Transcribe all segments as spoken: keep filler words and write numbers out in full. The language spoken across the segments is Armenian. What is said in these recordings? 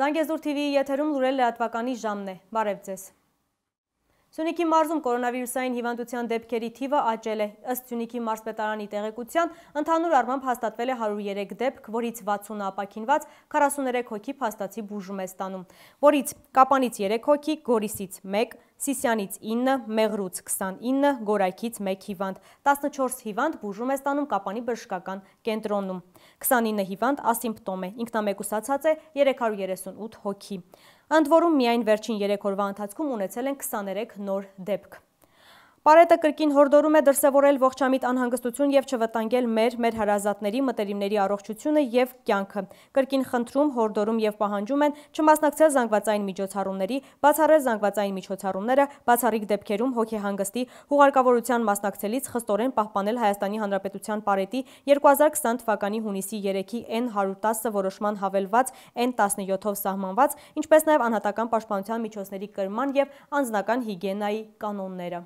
Զանգեզուր T V-ի եթերում լուրել լրատվականի ժամն է։ Բարև ձեզ։ Սյունիքի մարզում կորոնավիրուսային հիվանդության դեպքերի թիվը աճել է։ Ըստ Սյունիքի մարզպետարանի տեղեկության, ընդհանուր առմամբ հաստատվել է հարյուր երեք դեպք, որից վաթսունը ապաքինված, քառասուներեք հոգի փաստացի բուժում է ստանում, որից Կապանից երեք հոգի, Գորիսից մեկ, Սիսյանից ինը, Մեղրուց քսանինը, Գորայքից մեկ հիվանդ, տասնչորս հիվանդ բուժում է ստանում Կապանի բժշկական կենտրոնում, քսանինը հիվանդ ասիմպտոմ է, ինքնամեկուսացած է երեք հարյուր երեսունութ հոգի։ Ընդ որում միայն վերջին երեք օրվա ընթացքում ունեցել են քսաներեք նոր դեպք։ Պարետը կրկին հորդորում է դրսևորել ողջամիտ անհանգստություն և չվտանգել մեր, մեր հարազատների, մտերիմների առողջությունը և կյանքը։ Կրկին խնդրում, հորդորում և պահանջում են չմասնակցել զանգվածային միջոցառումների, բացառել զանգվածային միջոցառումները, բացառիկ դեպքերում հոգեհանգստի, հուղարկավորության մասնակցելիս խստորեն պահպանել Հայաստանի Հանրապետության պարետի երկու հազար քսան թվականի հունիսի երեքի N հարյուր տասը որոշման հավելված N տասնյոթով սահմանված, ինչպես նաև անհատական պաշտպանության միջոցների կրման և անձնական հիգիենայի կանոնները։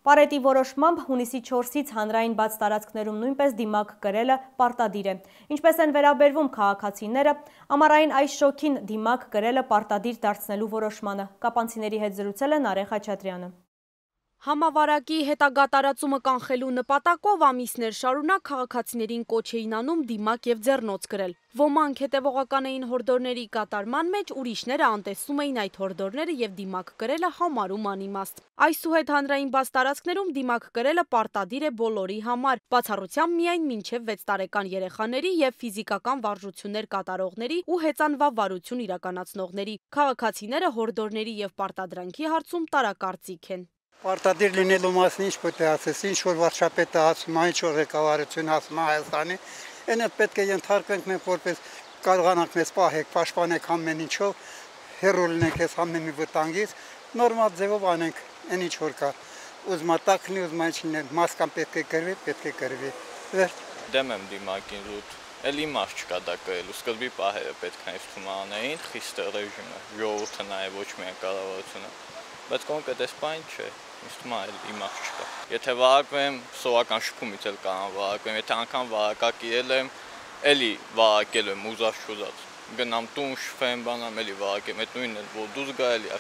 Պարետի որոշմամբ հունիսի չորսից հանրային բաց տարածքներում նույնպես դիմակ կրելը պարտադիր է։ Ինչպես են վերաբերվում քաղաքացիները, ամառային այս շոգին դիմակ կրելը պարտադիր դարձնելու որոշմանը։ Կապանցիների հետ զրուցել է Նարեկ Խաչատրյանը։ Համավարակի հետագա տարածումը կանխելու նպատակով ամիսներ շարունակ քաղաքացիներին կոչ էին անում դիմակ և ձեռնոց կրել։ Ոմանք հետևողական էին հորդորների կատարման մեջ, ուրիշները անտեսում էին այդ հորդորները և դիմակ կրելը համարում անիմաստ։ Այսուհետ հանրային բաց տարածքներում դիմակ կրելը պարտադիր է բոլորի համար, բացառությամբ միայն մինչև վեց տարեկան երեխաների և ֆիզիկական վարժություններ կատարողների ու հեծանվա վարություն իրականացնողների։ Քաղաքացիները հորդորների և պարտադրանքի հարցում տարակարծիք են։ Պարտադիր լինելու մասին ինչ պետք է ասես, ինչ որ վարչապետը ասում է, ինչ որ ղեկավարությունը ասում է Հայաստանի, այնը պետք է ենթարկվենք մենք որպես կարողանանք մեզ պահեք, պաշտպանեք ամեն ինչով, հեռու լինենք այս ամեն մի վտանգից, նորմալ ձևով անենք, այն ինչ որ կա։ Ուզում է տաքնի, ուզում է ինչ լինել, մասկան պետք է կրվի, պետք է կրվի։ Վերջ։ Դեմ եմ դիմակին զուտ, էլ իմաստ չկա դա կրելու, սկզբի պահերը պետք է ինձ թվում անեին, խիստ ռեժիմը, ժողովուրդը նաև ոչ միայն կառավարությունը, բայց կոնկրետ այս բան չէ։ Ինձ թվում է իմաստ չկա։ Եթե վարակվեմ, սովորական շփումից էլ կարող վարակվեմ, եթե անգամ վարակակիրել եմ, էլի վարակել եմ ուզած-չուզած։ Գնամ տուն, շփեմ, բանամ, էլի վարակեմ, այդ նույնն էլ որ դուրս գա էլի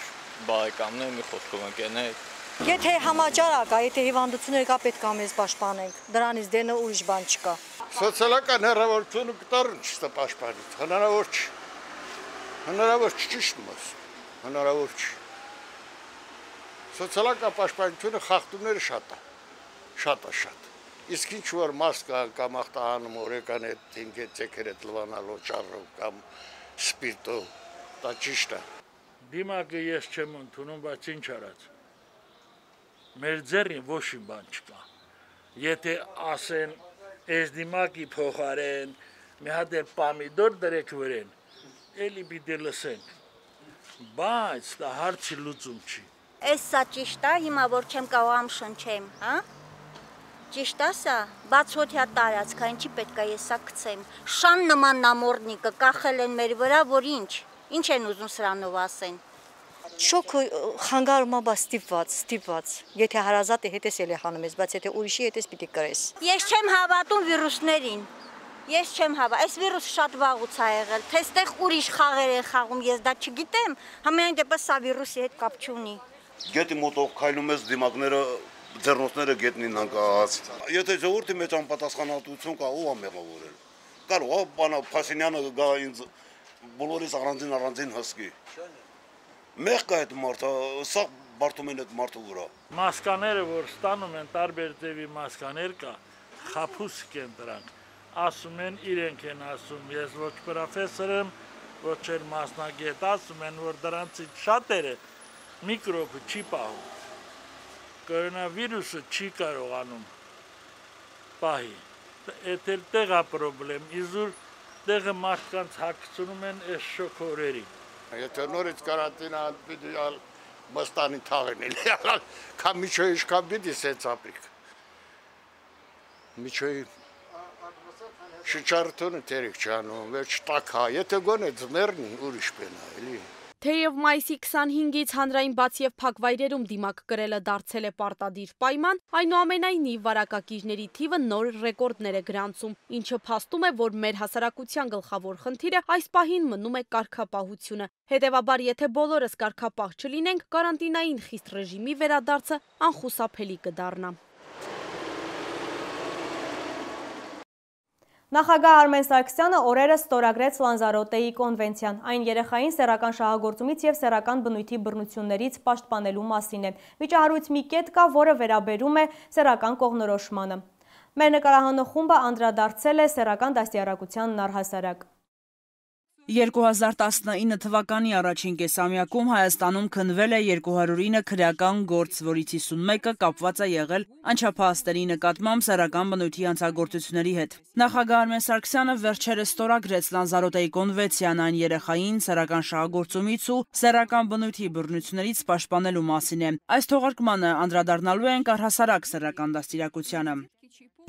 բարեկամներ, մի խոսքով ընկերներ։ Եթե համաճարակ է, եթե հիվանդություններ կա, պետք է մեզ պաշտպանենք։ Դրանից դենը ուրիշ բան չկա։ Սոցիալական հեռավորությունը կտարն չստա պաշտպանի։ Հնարավոր չի։ Հնարավոր չի ճիշտն ասում։ Հնարավոր չի։ Սոցիալական պաշտպանությունը խախտումները շատ է, շատ է շատ։ Իսկ ինչ որ մասկա կամ ախտահանում օրեկան է թինգեցեքերը լվանալով ճառով կամ սպիրտով, դա ճիշտ է։ Դիմակը ես չեմ ընդունում, բայց ինչ արած։ Մեր ձեռին ոչ մի բան չկա։ Եթե ասեն, այս դիմակի փոխարեն մի հատ էլ պամիդոր դրեք վրեն, էլի պիտի լսենք։ Բայց դա հարցի լուծում չի։ Այս սա ճիշտ է, հիմա որ չեմ կարողամ շնչեմ, հա? Ճիշտ է սա, բաց հոթյա տարածք, ինչի պետք է ես սա գցեմ։ Շան նման նամորդնիկը կախել են մեր վրա, որ ինչ, ինչ են ուզում սրանով ասեն։ Շոկը խանգարում է, բա ստիպված, ստիպված։ Եթե հարազատը հետես էլ է հանում ես, բայց եթե ուրիշի հետես պիտի կրես։ Ես չեմ հավատում վիրուսներին։ Ես չեմ հավատում, այս վիրուսը շատ վաղուց է եղել, թե ստեղ ուրիշ խաղեր են խաղում, ես դա չգիտեմ, համենայն դեպս սա վիրուսի հետ կապ չունի։ Գետի մոտով քայլում ես դիմակները, ձեռնոցները գետնին անկախած։ Եթե ժողովրդի մեջ անպատասխանատվություն կա, ով է մեղավորել։ Կարող է բանա Փաշինյանը գա ինձ բոլորիս առանձին առանձին հսկի։ Մեղ կա այդ մարդը, սա բարդում են այդ մարդու վրա։ Մասկաները, որ ստանում են տարբեր ձևի մասկաներ կա, խաբուսիկ են դրանք։ Ասում են իրենք են ասում, ես ոչ պրոֆեսոր եմ, ոչ էլ մասնագետ, ասում են, որ դրանցից շատերը միկրոբը չի պահում, կորոնավիրուսը չի կարողանում պահի, էդ էլ տեղ է պրոբլեմ, իզուր տեղը մարդկանց հագցնում են այս շոքորերին։ Եթե նորից կարանտինա պիտի մստանի թաղեն էլի, կամ միջոյի իշկան պիտի սենց ապրիք։ Միջոյի շնչարությունը տերիք չանում, վերջ տակ հա, եթե գոնե ձմերնի ուրիշ պենա էլի։ Թեև մայիսի քսանհինգից հանրային բաց եւ փակ վայրերում դիմակ կրելը դարձել է պարտադիր պայման, այնուամենայնիվ վարակակիրների թիվը նոր ռեկորդներ է գրանցում, ինչը փաստում է, որ մեր հասարակության գլխավոր խնդիրը այս պահին մնում է կարգապահությունը։ Հետևաբար, եթե բոլորս կարգապահ չլինենք, կարանտինային խիստ ռեժիմի վերադարձը անխուսափելի կդառնա։ Նախագահ Արմեն Սարգսյանը օրերս ստորագրեց Լանզարոտեի կոնվենցիան։ Այն երեխային սեռական շահագործումից և սեռական բնույթի բռնություններից պաշտպանելու մասին է։ Վիճահարույց մի կետ կա, որը վերաբերում է սեռական կողմնորոշմանը։ Մեր նկարահանող խումբը անդրադարձել է սեռական դաստիարակությանն առհասարակ։ երկու հազար տասնինը թվականի առաջին կեսամյակում Հայաստանում քննվել է երկու հարյուր ինը քրեական գործ, որից հիսունմեկը կապված է եղել անչափահասների նկատմամբ սեռական բնույթի հանցագործությունների հետ։ Նախագահ Արմեն Սարգսյանը վերջերս ստորագրեց Լանզարոտեի կոնվենցիան, այն երեխային սեռական շահագործումից ու սեռական բնույթի բռնություններից պաշտպանելու մասին է։ Այս թողարկմանը անդրադառնալու ենք առհասարակ սեռական դաստիարակությանը։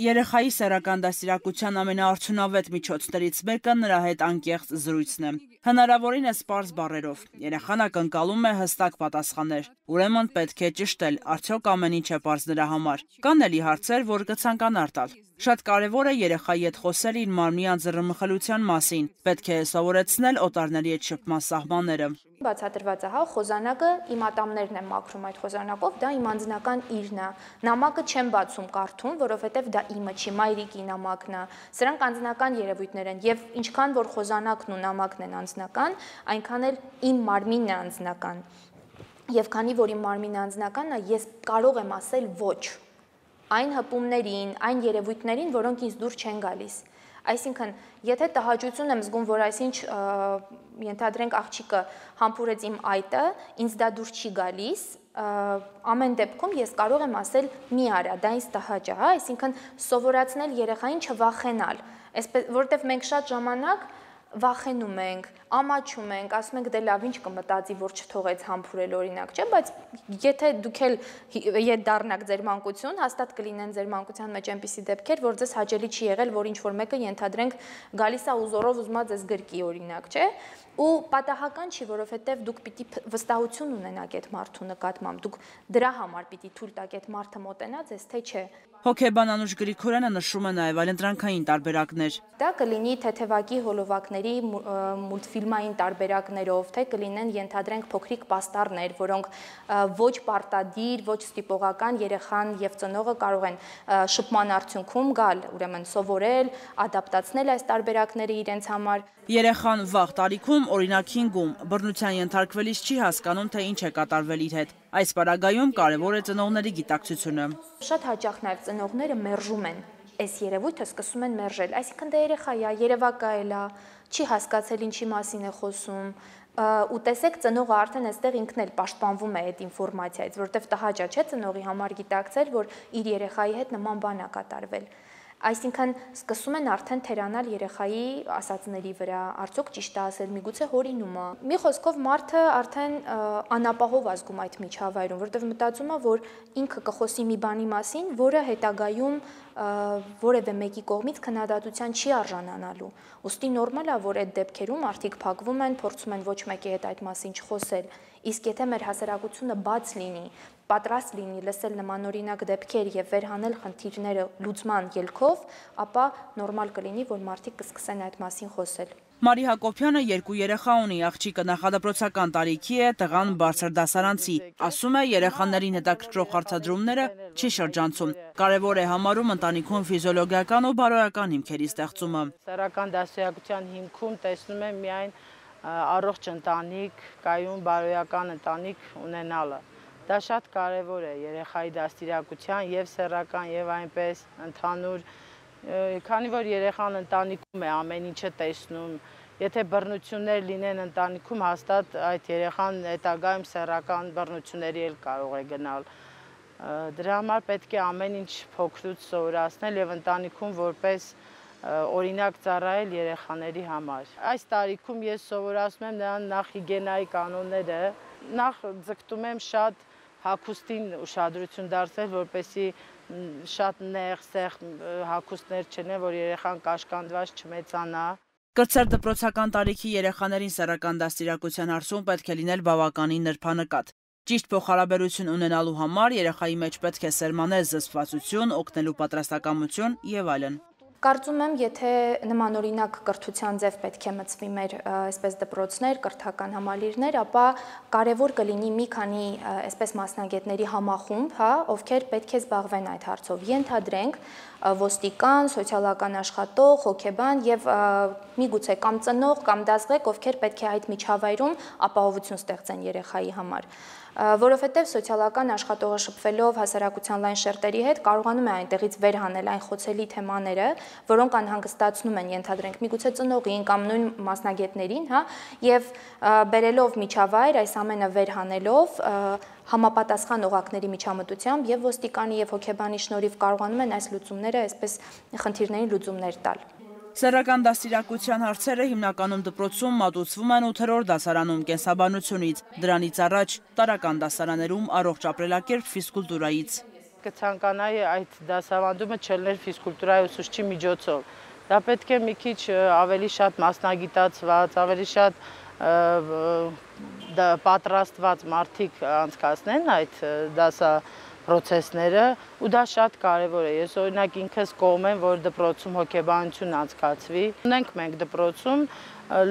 Երեխայի սեռական դաստիարակության ամենաարդյունավետ միջոցներից մեկը նրա հետ անկեղծ զրույցն է։ Հնարավորինս պարզ բառերով։ Երեխան ակնկալում է հստակ պատասխաններ։ Ուրեմն պետք է ճշտել, արդյոք ամեն ինչ է պարզ նրա համար։ Կան էլի հարցեր, որ կցանկանար տալ։ Շատ կարևոր է երեխայի հետ խոսել իր մարմնի անձեռնմխելիության մասին։ Պետք է սովորեցնել օտարների հետ շփման սահմանները։ Բացատրված է, հա, խոզանակը իմ ատամներն եմ մաքրում այդ խոզանակով, դա իմ անձնական իրն է։ Նամակը չեմ բացում կարդում, որովհետև դա իմը չի, մայրիկի նամակն է։ Սրանք անձնական երևույթներ են, եւ ինչքան որ խոզանակն ու նամակն են անձնական, այնքան էլ իմ մարմինն է անձնական։ Եվ քանի որ իմ մարմինը անձնականն է, ես կարող եմ ասել ոչ այն հպումներին, այն երևույթներին, որոնք ինձ դուր չեն գալիս։ Այսինքն, եթե տհաճություն եմ զգում, որ այսինչ ենթադրենք աղջիկը համբուրեց իմ այտը, ինձ դա դուր չի գալիս, ամեն դեպքում ես կարող եմ ասել մի արա, դա ինձ տհաճ է, հա, այսինքն սովորացնել երեխային չվախենալ, որովհետև մենք շատ ժամանակ վախենում ենք, ամաչում ենք, ասում ենք դե լավ ինչ կմտածի, որ չթողեց համբուրել օրինակ, չէ, բայց եթե դուք էլ ետ դառնաք ձեր մանկություն, հաստատ կլինեն ձեր մանկության մեջ այնպիսի դեպքեր, որ ձեզ հաճելի չի եղել, որ ինչ-որ մեկը ենթադրենք գալիս է ու զորով ուզում է ձեզ գրկի օրինակ, չէ, ու պատահական չի, որովհետև դուք պիտի վստահություն ունենաք այդ մարդու նկատմամբ, դուք դրա համար պիտի թույլ տաք այդ մարդը մոտենա ձեզ, թե չէ։ Հոգեբան Անուշ Գրիգորյանը նշում է նաև այլընտրանքային տարբերակներ։ Դա կլինի թեթևակի հոլովակների մուլտֆիլմային տարբերակներով, թե կլինեն ենթադրենք փոքրիկ պաստառներ, որոնք ոչ պարտադիր, ոչ ստիպողական երեխան եւ ծնողը կարող են շփման արդյունքում գալ, ուրեմն սովորել, ադապտացնել այս տարբերակները իրենց համար։ Երեխան վաղ տարիքում, օրինակ հինգում, բռնության ենթարկվելիս չի հասկանում, թե ինչ է կատարվել իր հետ։ Այս պարագայում կարևոր է ծնողների գիտակցությունը։ Շատ հաճախ նաև ծնողները մերժում են այս երևույթը, սկսում են մերժել, այսինքն դա երեխա է, երևակայել է, չի հասկացել ինչի մասին է խոսում, ու տեսեք ծնողը արդեն այստեղ ինքն էլ պաշտպանվում է այդ ինֆորմացիայից, որովհետև տհաճ է, չէ, ծնողի համար գիտակցել, որ իր երեխայի հետ նման բան է կատարվել։ Այսինքն սկսում են արդեն թերանալ երեխայի ասածների վրա, արդյոք ճիշտ է ասել, միգուցե հորինում է։ Մի խոսքով մարդը արդեն անապահով ազգում այդ միջավայրում, որովհետև մտածում է, որ ինքը կխոսի մի բանի մասին, որը հետագայում որևէ մեկի կողմից քննադատության չի արժանանալու։ Ուստի նորմալ է, որ այդ դեպքերում մարդիկ փակվում են, փորձում են ոչ մեկի հետ այդ մասին չխոսել։ Իսկ եթե մեր հասարակությունը բաց լինի, պատրաստ լինի լսել նմանօրինակ դեպքեր եւ վերհանել խնդիրները լուծման ելքով, ապա նորմալ կլինի, որ մարդիկ կսկսեն այդ մասին խոսել։ Մարի Հակոբյանը երկու երեխա ունի, աղջիկը նախադպրոցական տարիքի է, տղան բարձր դասարանցի։ Ասում է, երեխաներին հետաքրքրող հարցադրումները չի շրջանցում։ Կարևոր է համարում ընտանիքում ֆիզիոլոգիական ու բարոյական հիմքերի ստեղծումը։ Սեռական դաստիարակության հիմքում տեսնում եմ միայն առողջ ընտանիք, կայուն բարոյական ընտանիք ունենալը։ Դա շատ կարևոր է երեխայի դաստիարակության եւ սեռական եւ այնպես ընդհանուր, քանի որ երեխան ընտանիքում է ամեն ինչը տեսնում, եթե բռնություններ լինեն ընտանիքում, հաստատ այդ երեխան հետագայում սեռական բռնությունների էլ կարող է գնալ։ Դրա համար պետք է ամեն ինչ փոքրուց սովորացնել եւ ընտանիքում որպես օրինակ ծառայել երեխաների համար։ Այս տարիքում ես սովորացնում եմ նրան նախ հիգիենայի կանոնները, նախ ձգտում եմ շատ հագուստին ուշադրություն դարձնել, որպեսզի շատ նեղ, սեղ հագուստներ չնեն, որ երեխան կաշկանդված չմեծանա։ Կրտսեր դպրոցական տարիքի երեխաներին սեռական դաստիարակության հարցում պետք է լինել բավականին նրբանկատ։ Ճիշտ փոխհարաբերություն ունենալու համար երեխայի մեջ պետք է սերմանել զսպվածություն, օգնելու պատրաստակամություն եւ այլն։ Կարծում եմ, եթե նմանօրինակ կրթության ձև պետք է մտցվի մեր այսպես դպրոցներ, կրթական համալիրներ, ապա կարևոր կլինի մի քանի այսպես մասնագետների համախումբ, հա, ովքեր պետք է զբաղվեն այդ հարցով։ Ենթադրենք ոստիկան, սոցիալական աշխատող, հոգեբան եւ միգուցե կամ ծնող կամ դասղեկ, ովքեր պետք է այդ միջավայրում ապահովություն ստեղծեն երեխայի համար։ Որովհետև սոցիալական աշխատողը շփվելով հասարակության լայն շերտերի հետ կարողանում է այնտեղից վեր հանել այն խոցելի թեմաները, որոնք անհանգստացնում են, ենթադրենք, միգուցե ծնողին կամ նույն մասնագետներին, հա, եւ բերելով միջավայր, այս ամենը վեր հանելով, համապատասխան օղակների միջամտությամբ եւ ոստիկանի եւ հոգեբանի շնորհիվ կարողանում են այս լուծումները այսպես խնդիրներին լուծումներ տալ։ Սեռական դաստիարակության հարցերը հիմնականում դպրոցում մատուցվում են ութերորդ դասարանում կենսաբանությունից, դրանից առաջ տարրական դասարաններում առողջ ապրելակերպ ֆիզկուլտուրայից։ Կցանկանայի այդ դասավանդումը չելներ ֆիզկուլտուրայի ուսուցչի միջոցով։ Դա պետք է մի քիչ ավելի շատ մասնագիտացված, ավելի շատ պատրաստված մարդիկ անցկացնեն այդ դասա պրոցեսները, ու դա շատ կարևոր է։ Ես օրինակ ինքս կողմ եմ, որ դպրոցում հոգեբանություն անցկացվի։ Ունենք մենք դպրոցում,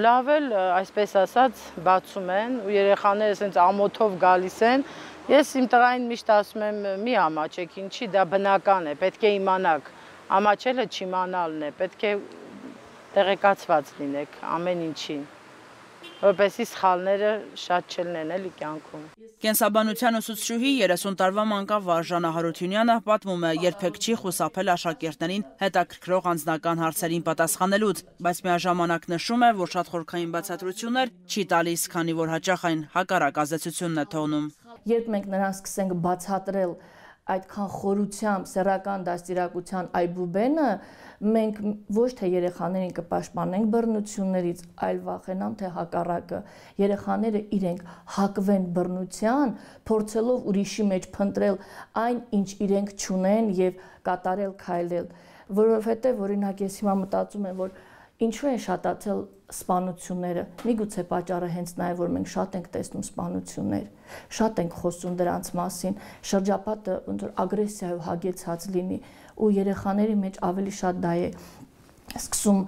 լավ էլ, այսպես ասած, բացում են, ու երեխաները ասենց ամոթով գալիս են։ Ես իմ տղային միշտ ասում եմ՝ մի ամաչեք, ինչի, դա բնական է, պետք է իմանաք։ Ամաչելը չիմանալն է, պետք է տեղեկացված լինեք ամեն ինչին, որպեսզի սխալները շատ չլինեն էլի կյանքում։ Կենսաբանության ուսուցչուհի երեսուն տարվա մանկավար Ժանա Հարությունյանը պատմում է, երբեք չի խուսափել աշակերտներին հետաքրքրող անձնական հարցերին պատասխանելուց, բայց միաժամանակ նշում է, որ շատ խորքային բացատրություններ չի տալիս, քանի որ հաճախ այն հակառակ ազդեցությունն է թողնում։ Երբ մենք նրան սկսենք բացատրել այդքան խորությամբ սեռական դաստիարակության այբուբենը, մենք ոչ թե երեխաներին կպաշտպանենք բռնություններից, այլ վախենամ, թե հակառակը երեխաները իրենք հակվեն բռնության, փորձելով ուրիշի մեջ փնտրել այն, ինչ իրենք չունեն եւ կատարել քայլել, որովհետեւ օրինակ ես հիմա մտածում եմ, որ ինչու են շատացել սպանությունները, միգուցե պատճառը հենց նա է, որ մենք շատ ենք տեսնում սպանություններ, շատ ենք խոսում դրանց մասին, շրջապատը ոնց որ ագրեսիայով հագեցած լինի, ու երեխաների մեջ ավելի շատ դա է սկսում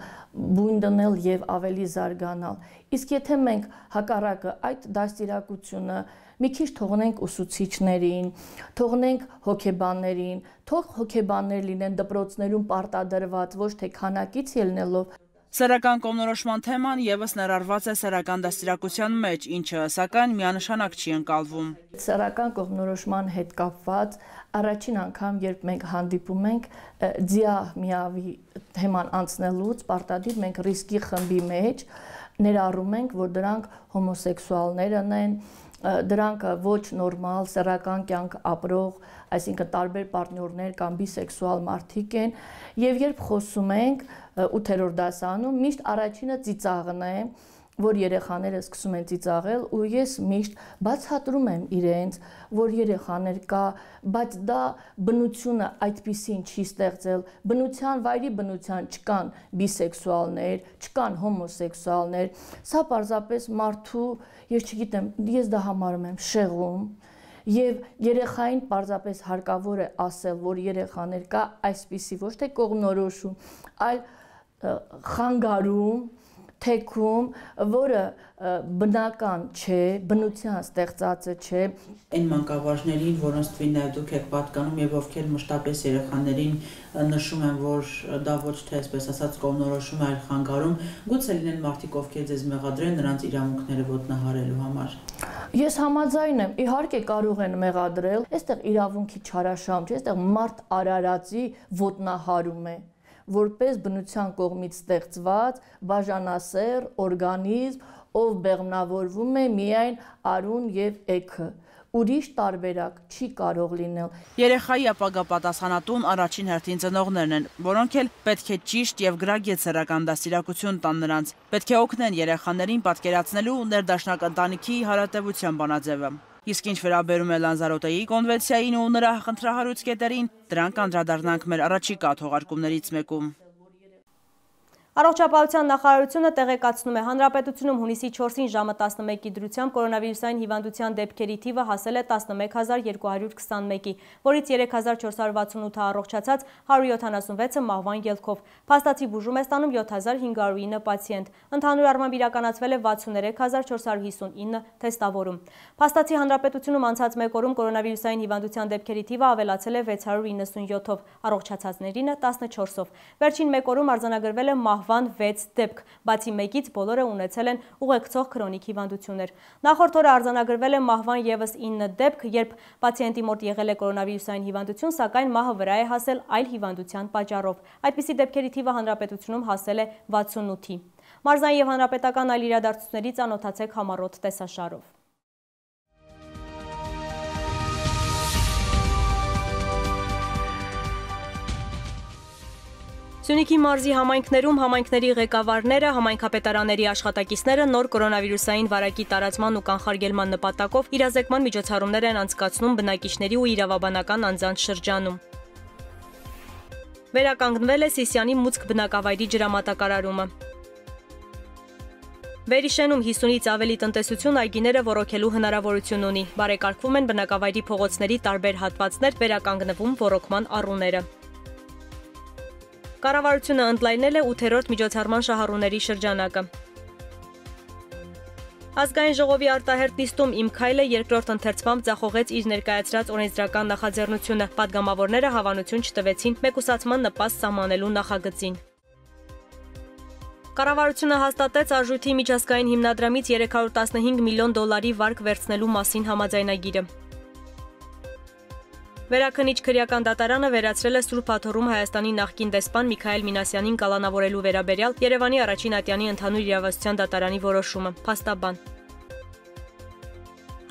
բույն դնել եւ ավելի զարգանալ։ Իսկ եթե մենք հակառակը այդ դաստիարակությունը մի քիչ թողնենք ուսուցիչներին, թողնենք հոգեբաններին, թող հոգեբաններ լինեն դպրոցներում պարտադրված, ոչ թե քանակից ելնելով։ Սեռական կողմնորոշման թեման եւս ներառված է սեռական դաստիարակության մեջ, ինչը սակայն միանշանակ չի ընկալվում։ Սեռական կողմնորոշման հետ կապված առաջին անգամ, երբ մենք հանդիպում ենք ձիա միավի թեման անցնելուց, պարտադիր մենք ռիսկի խմբի մեջ ներառում ենք, որ դրանք հոմոսեքսուալներն են, դրանք ոչ նորմալ սեռական կյանք ապրող, այսինքն տարբեր պարտներներ կամ բիսեքսուալ մարդիկ են, եւ երբ խոսում ենք ութերորդ դասանում, միշտ առաջինը ծիծաղն է, որ երեխաները սկսում են ծիծաղել, ու ես միշտ բացատրում եմ իրենց, որ երեխաներ կա, բայց դա բնությունը այդպիսին չի ստեղծել, բնության վայրի բնության չկան բիսեքսուալներ, չկան հոմոսեքսուալներ, սա պարզապես մարդու, ես չգիտեմ, ես դա համարում եմ շեղում, եւ երեխային պարզապես հարկավոր է ասել, որ երեխաներ կա այսպիսի ոչ թե կողմնորոշում, այլ խանգարում, թեքում, որը բնական չէ, բնության ստեղծածը չէ։ Այն մանկավարժներին, որոնց թվին նաև դուք եք պատկանում եւ ովքեր մշտապես երեխաներին նշում են, որ դա ոչ թե այսպես ասած կողմնորոշում, այլ խանգարում, գուցե լինեն մարդիկ, ովքեր ձեզ մեղադրեն նրանց իրավունքները ոտնահարելու համար։ Ես համաձայն եմ, իհարկե կարող են մեղադրել, այստեղ իրավունքի չարաշահում չէ, այստեղ մարդ արարածի ոտնահարում է, որպես բնության կողմից ստեղծված բաժանասեռ օրգանիզմ, ով բեղմնավորվում է միայն արուն եւ էգը, ուրիշ տարբերակ չի կարող լինել։ Երեխայի ապագա պատասխանատուն առաջին հերթին ծնողներն են, որոնք էլ պետք է ճիշտ եւ գրագետ սեռական դաստիարակություն տան նրանց, պետք է օգնեն երեխաներին պատկերացնելու ներդաշնակ ընտանիքի հարատեվության բանաձևը։ Իսկ ինչ վերաբերում է Լանզարոտեի կոնվենցիային ու նրա խնդրահարույց կետերին, դրանք անդրադառնանք մեր առաջիկա թողարկումներից մեկում։ Առողջապահության նախարարությունը տեղեկացնում է, հանրապետությունում հունիսի չորսին ժամը տասնմեկի դրությամբ կորոնավիրուսային հիվանդության դեպքերի թիվը հասել է տասնմեկ հազար երկու հարյուր քսանմեկի, որից երեք հազար չորս հարյուր վաթսունութը առողջացած, հարյուր յոթանասունվեցը մահվան ելքով։ Փաստացի բուժում է ստանում յոթ հազար հինգ հարյուր ինը պացիենտ։ Ընդհանուր առմամբ իրականացվել է վաթսուներեք հազար չորս հարյուր հիսունինը թեստավորում։ Փաստացի հանրապետությունում անցած մեկ օրում կորոնավիրուսային հիվանդության դեպքերի թիվը ավելացել է վեց հարյուր իննսունյոթով, առողջացածներինը տասնչորսով։ Վերջին մեկ օրում արձանագրվել է մահվան վեց դեպք, բացի մեկից բոլորը ունեցել են ուղեկցող քրոնիկ հիվանդություններ։ Նախորդ օրը արձանագրվել է մահվան ևս ինը դեպք, երբ պացիենտի մոտ եղել է կորոնավիրուսային հիվանդություն, սակայն մահը վրա է հասել այլ հիվանդության պատճառով։ Այդպիսի դեպքերի թիվը հանրապետությունում հասել է վաթսունութի։ Մարզային եւ հանրապետական այլ իրադարձությունների ծանոթացեք համառոտ տեսաշարով։ Սյունիքի մարզի համայնքներում համայնքների ղեկավարները, համայնքապետարանների աշխատակիցները նոր կորոնավիրուսային վարակի տարածման ու կանխարգելման նպատակով իրազեկման միջոցառումներ են անցկացնում բնակիչների ու իրավաբանական անձանց շրջանում։ Վերականգնվել է Սիսիանի Մուցկ բնակավայրի ջրամատակարարումը։ Վերիշենում հիսունից ավելի տնտեսություն այգիները ոռոգելու հնարավորություն ունի։ Բարեկարգվում են բնակավայրի փողոցների տարբեր հատվածներ, վերականգնվում ոռոգման առուները։ Կառավարությունը ընդլայնել է ութերորդ միջոցառման շահառուների շրջանակը։ Ազգային ժողովի արտահերտ նիստում «Իմ քայլը» երկրորդ ընթերցմամբ ձախողեց իր ներկայացրած օրենսդրական նախաձեռնությունը, պատգամավորները հավանություն չտվեցին մեկուսացման նպաստ սահմանելու նախագծին։ Կառավարությունը հաստատեց Արժույթի միջազգային հիմնադրամից երեք հարյուր տասնհինգ միլիոն դոլարի վարկ վերցնելու մասին համաձայնագիրը։ Վերաքնիչ քրեական դատարանը վերացրել է Սուրբ Աթոռում Հայաստանի նախկին դեսպան Միքայել Մինասյանին կալանավորելու վերաբերյալ Երևանի առաջին ատյանի ընդհանուր իրավասության դատարանի որոշումը, փաստաբան։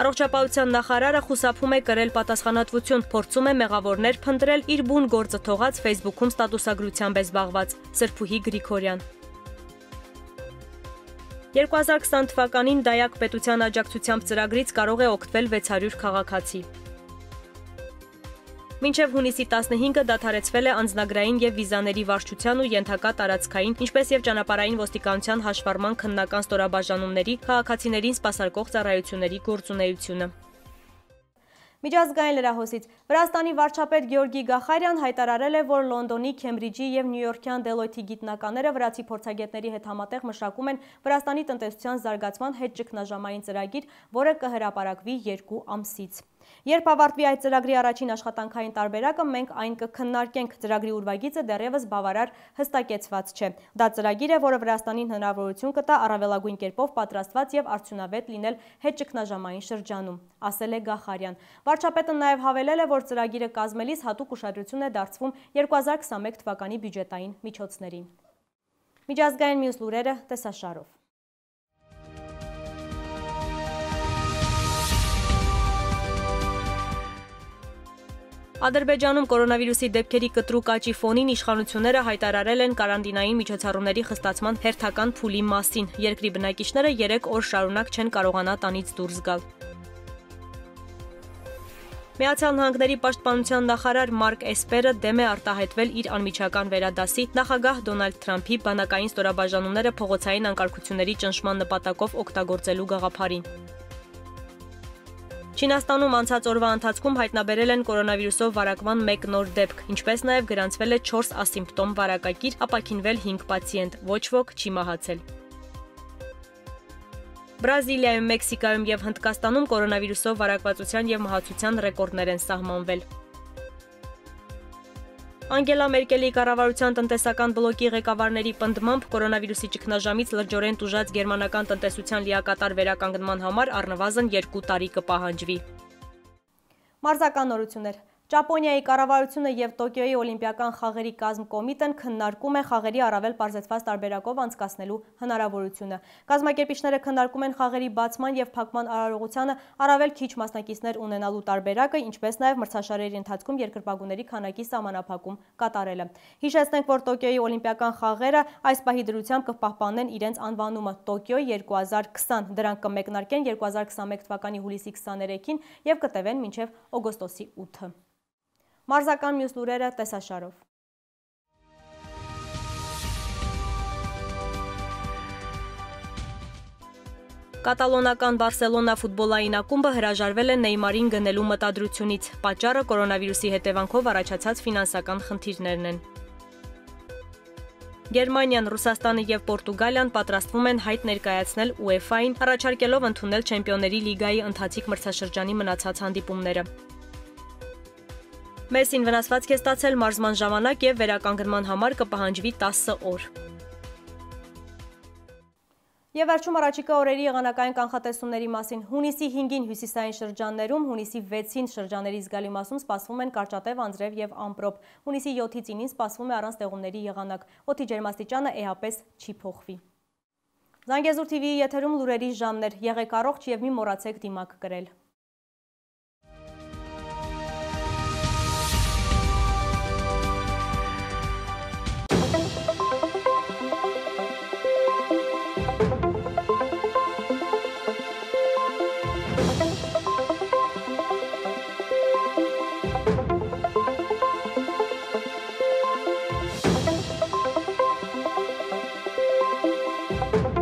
Առողջապահության նախարարը խուսափում է կրել պատասխանատվություն, փորձում է մեղավորներ փնտրել իր բուն գործը թողած Facebook-ում ստատուսագրությամբ է զբաղված, Սրփուհի Գրիգորյան։ երկու հազար քսան թվականին Դայակ պետության աջակցությամբ ծրագրից կարող է օգտվել վեց հարյուր քաղաքացի։ Մինչև հունիսի տասնհինգը դադարեցվել է անձնագրային եւ վիզաների վարչության ու ենթակա տարածքային, ինչպես եւ ճանապարհային ոստիկանության հաշվառման քննական ստորաբաժանումների քաղաքացիներին սպասարկող ծառայությունների գործունեությունը։ Միջազգային լրահոսից Վրաստանի վարչապետ Գեորգի Գախարյան հայտարարել է, որ Լոնդոնի, Քեմբրիջի եւ Նյույորքյան Դելոյթի գիտնականները վրացի փորձագետների հետ համատեղ մշակում են Վրաստանի տնտեսության զարգացման հետ ճգնաժամային ծրագիր, որը կհրապարակվի երկու ամսից։ Երբ ավարտվի այդ ծրագրի առաջին աշխատանքային տարբերակը, մենք այն կքննարկենք, ծրագրի ուրվագիծը դեռևս բավարար հստակեցված չէ։ Դա ծրագիր է, որը Վրաստանին հնարավորություն կտա առավելագույն կերպով պատրաստված եւ արդյունավետ լինել հետ ճգնաժամային շրջանում, ասել է Գախարյան։ Վարչապետը նաև հավելել է, որ ծրագիրը կազմելիս հատուկ ուշադրություն է դարձվում երկու հազար քսանմեկ թվականի բյուջետային միջոցներին։ Միջազգային մյուս լուրերը տեսաշարով։ Ադրբեջանում կորոնավիրուսի դեպքերի կտրուկ աճի ֆոնին իշխանությունները հայտարարել են կարանտինային միջոցառումների խստացման հերթական փուլի մասին։ Երկրի բնակիչները երեք օր շարունակ չեն կարողանա տանից դուրս գալ։ Միացյալ Նահանգների պաշտպանության նախարար Մարկ Էսպերը դեմ է արտահայտվել իր անմիջական վերադասի նախագահ Դոնալդ Թրամփի բանակային ստորաբաժանումները փողոցային անկարգությունների ճնշման նպատակով օգտագործելու գաղափարին։ Չինաստանում անցած օրվա ընթացքում հայտնաբերել են կորոնավիրուսով վարակման մեկ նոր դեպք, ինչպես նաև գրանցվել է չորս ասիմպտոմ վարակագիր, ապաքինվել հինգ պացիենտ, ոչ ոք չի մահացել։ Բրազիլիայում, Մեքսիկայում եւ Հնդկաստանում կորոնավիրուսով վարակվածության եւ մահացության ռեկորդներ են սահմանվել։ Անգելա Մերկելի կառավարության տնտեսական բլոկի ղեկավարների պնդմամբ կորոնավիրուսի ճգնաժամից լրջորեն տուժած գերմանական տնտեսության լիակատար վերականգնման համար առնվազն երկու տարի կպահանջվի։ Մարզական նորություններ։ Ճապոնիայի կառավարությունը եւ Տոկիոյի օլիմպիական խաղերի կազմկոմիտեն քննարկում են խաղերի առավել պարզեցված տարբերակով անցկացնելու հնարավորությունը։ Կազմակերպիչները քննարկում են խաղերի բացման եւ փակման արարողությանը առավել քիչ մասնակիցներ ունենալու տարբերակը, ինչպես նաեւ մրցաշարերի ընթացքում երկրպագուների քանակի սահմանափակում կատարելը։ Հիշեցնենք, որ Տոկիոյի օլիմպիական խաղերը այս պահի դրությամբ կպահպանեն իրենց անվանումը Տոկիո երկու հազար քսան։ Դրանք կմեկնարկեն երկու հազար քսանմեկ թվականի հուլիսի քսաներեքին եւ կտևեն մինչեւ օգոստոսի ութը։ Մարզական մյուս լուրերը տեսաշարով։ Կատալոնական Բարսելոնա ֆուտբոլային ակումբը հրաժարվել է Նեյմարին գնելու մտադրությունից։ Պատճառը կորոնավիրուսի հետևանքով առաջացած ֆինանսական խնդիրներն են։ Գերմանիան, Ռուսաստանը եւ Պորտուգալիան պատրաստվում են հայտ ներկայացնել ՈՒԵՖԱ-ին, առաջարկելով ընդունել Չեմպիոնների լիգայի ընթացիկ մրցաշրջանի մնացած հանդիպումները։ Մեսին վնասվածք է ստացել մարզման ժամանակ եւ վերականգնման համար կպահանջվի տասը օր։ Եվ վերջում առաջիկա օրերի եղանակային կանխատեսումների մասին։ Հունիսի հինգին հյուսիսային շրջաններում, հունիսի վեցին շրջանների զգալի մասում սպասվում են կարճատև անձրև եւ ամպրոպ։ Հունիսի յոթից ինին սպասվում է առանց տեղումների եղանակ։ Օդի ջերմաստիճանը էապես չի փոխվի։ Զանգեզուր թիվիի եթերում լուրերի ժամն էր։ Եղեք առողջ եւ մի մոռացեք դիմակ կրել։ Thank you.